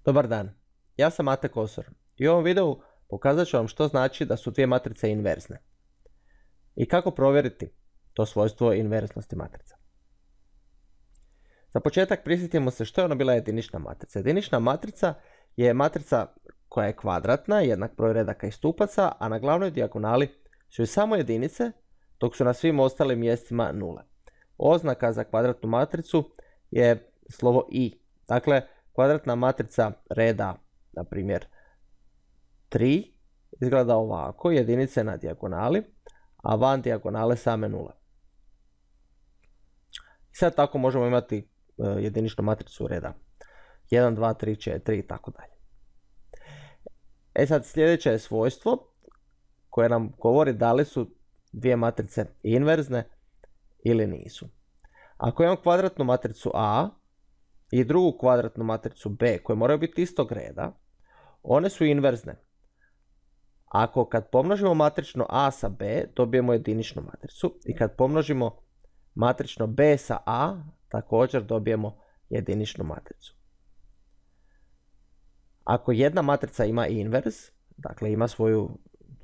Dobar dan, ja sam Mate Kosor i u ovom videu pokazat ću vam što znači da su dvije matrice inverzne i kako provjeriti to svojstvo inverznosti matrica. Za početak prisjetimo se što je ona bila jedinična matrica. Jedinična matrica je matrica koja je kvadratna, jednak broj redaka i stupaca, a na glavnoj dijagonali su samo jedinice, dok su na svim ostalim mjestima nule. Oznaka za kvadratnu matricu je slovo i. Dakle, kvadratna matrica reda, na primjer 3, izgleda ovako, jedinice na dijagonali, a van dijagonale same nule. I sad tako možemo imati jediničnu matricu reda 1, 2, 3, 4 i tako dalje. E sad sljedeće je svojstvo koje nam govori da li su dvije matrice inverzne ili nisu. Ako imam kvadratnu matricu A i drugu kvadratnu matricu B koje moraju biti istog reda, one su inverzne. Ako kad pomnožimo matrično A sa B, dobijemo jediničnu matricu i kad pomnožimo matrično B sa A, također dobijemo jediničnu matricu. Ako jedna matrica ima invers, dakle ima svoju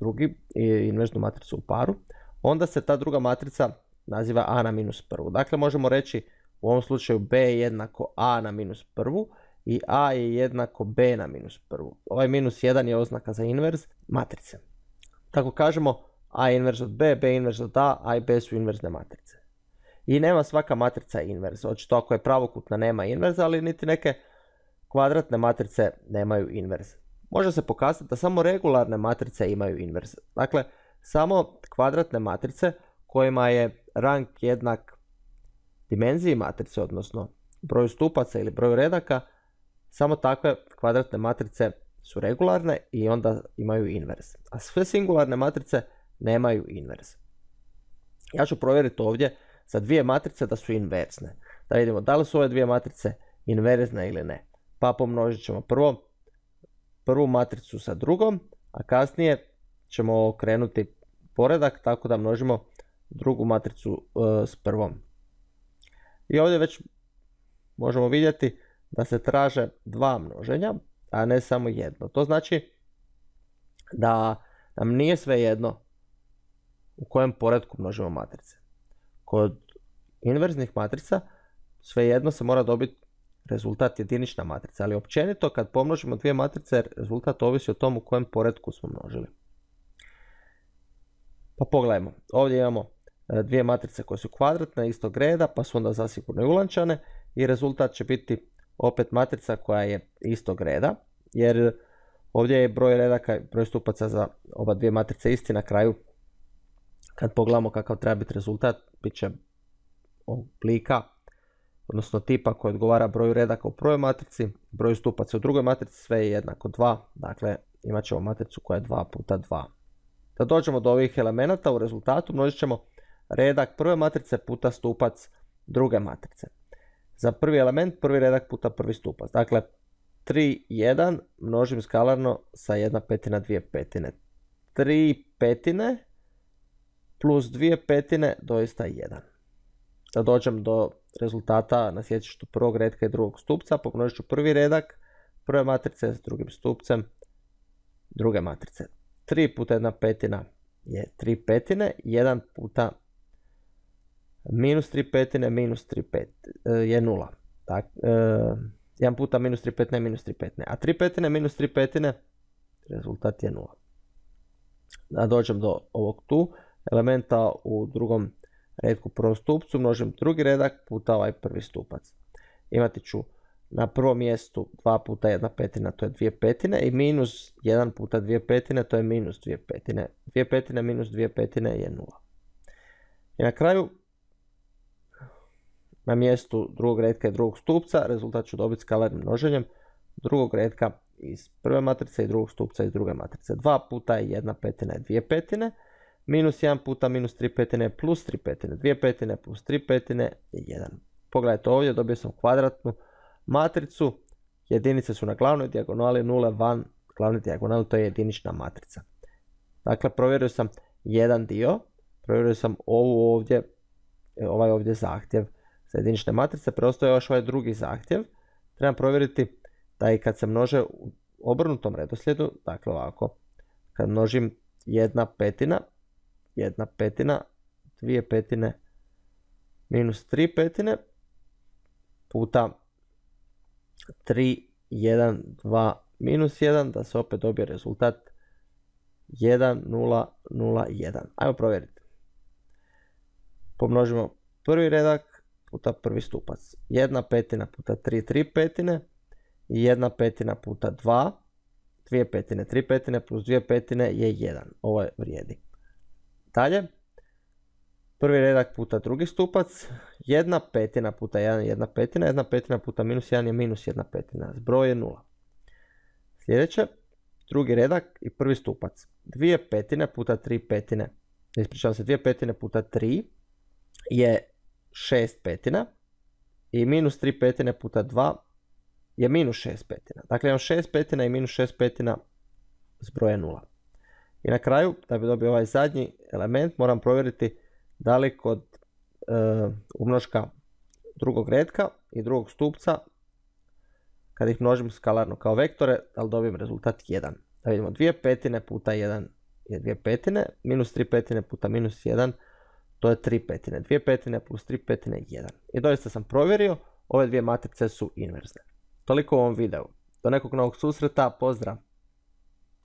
drugi inverznu matricu u paru, onda se ta druga matrica naziva A na minus prvu. Dakle, možemo reći u ovom slučaju B je jednako A na minus prvu i A je jednako B na minus prvu. Ovaj minus 1 je oznaka za invers matrice. Tako kažemo A je invers od B, B je invers od A i B su inverzne matrice. I nema svaka matrica invers. Očito ako je pravokutna nema inverza, ali niti neke kvadratne matrice nemaju invers. Može se pokazati da samo regularne matrice imaju invers. Dakle, samo kvadratne matrice kojima je rang jednak dimenziji matrice, odnosno broju stupaca ili broju redaka, samo takve kvadratne matrice su regularne i onda imaju invers. A sve singularne matrice nemaju invers. Ja ću provjeriti ovdje za dvije matrice da su inverzne. Da vidimo da li su ove dvije matrice inverzne ili ne. Pa pomnožit ćemo prvu matricu sa drugom, a kasnije ćemo okrenuti poredak tako da množimo drugu matricu s prvom. I ovdje već možemo vidjeti da se traže dva množenja, a ne samo jedno. To znači da nam nije svejedno u kojem poretku množimo matrice. Kod inverznih matrica svejedno se mora dobiti rezultat jedinična matrica, ali općenito kad pomnožimo dvije matrice rezultat ovisi o tom u kojem poretku smo množili. Pa pogledajmo, ovdje imamo dvije matrice koje su kvadratne istog reda, pa su onda zasigurno i ulančane i rezultat će biti opet matrica koja je istog reda, jer ovdje je broj redaka i broj stupaca za oba dvije matrice isti. Na kraju kad pogledamo kakav treba biti rezultat, bit će oblika, odnosno tipa koji odgovara broju redaka u prvoj matrici, broju stupaca u drugoj matrici, sve je jednako 2, dakle imat ćemo matricu koja je 2 puta 2. Da dođemo do ovih elemenata u rezultatu množit ćemo redak prve matrice puta stupac druge matrice. Za prvi element prvi redak puta prvi stupac. Dakle 3, 1 množim skalarno sa 1/5, 2/5. 3/5 plus 2/5 doista 1. Da dođem do rezultata na sjecištu prvog redka i drugog stupca, pomnožit ću prvi redak prve matrice s drugim stupcem druge matrice. 3 puta 1/5 je 3/5, 1 puta minus 3/5 minus 3/5 je 0. 1 puta minus 3/5 je minus 3/5, a 3/5 minus 3/5 rezultat je 0. Da dođem do ovog tu elementa u drugom redku prvom stupcu, množim drugi redak puta ovaj prvi stupac. Imati ću na prvom mjestu 2 puta 1/5, to je 2/5 i minus 1 puta 2/5, to je minus 2/5. 2/5 minus 2/5 je 0. I na kraju, na mjestu drugog redka i drugog stupca, rezultat ću dobiti skalarnim množenjem drugog redka iz prve matrice i drugog stupca iz druge matrice. 2 puta 1/5 je 2/5, minus 1 puta minus 3/5 je plus 3/5. 2/5 plus 3/5 je 1. Pogledajte ovdje, dobio sam kvadratnu matricu, jedinice su na glavnoj dijagonali, nule van glavne dijagonali, to je jedinična matrica. Dakle, provjerio sam jedan dio, provjerio sam ovaj ovdje zahtjev za jedinične matrice, preostaje još ovaj drugi zahtjev. Trebam provjeriti da i kad se množe u obrnutom redoslijedu, dakle ovako, kad množim 1/5, 1/5, 2/5 minus 3/5 puta 3, 1, 2, minus 1, da se opet dobije rezultat 1, 0, 0, 1. Ajmo provjeriti. Pomnožimo prvi redak puta prvi stupac. 1/5 puta 3, 3/5 i 1/5 puta 2, 2/5, 3/5 plus 2/5 je 1. Ovo je vrijedi. Dalje, prvi redak puta drugi stupac, 1/5 puta 1 je 1/5, 1/5 puta minus 1 je minus 1/5. Zbroj je 0. Sljedeće, drugi redak i prvi stupac. 2/5 puta 3/5, ispričavam se, 2/5 puta 3 je 6/5 i minus 3/5 puta 2 je minus 6/5. Dakle, imam 6/5 i minus 6/5, zbroj je 0. I na kraju, da bi dobio ovaj zadnji element, moram provjeriti da li kod umnoška drugog redka i drugog stupca, kad ih množim skalarno kao vektore, da li dobijem rezultat 1. Da vidimo, 2/5 puta 1 je 2/5, minus 3/5 puta minus 1, to je 3/5. 2/5 plus 3/5 je 1. I doista sam provjerio, ove dvije matrice su inverzne. Toliko u ovom videu. Do nekog novog susreta, pozdrav!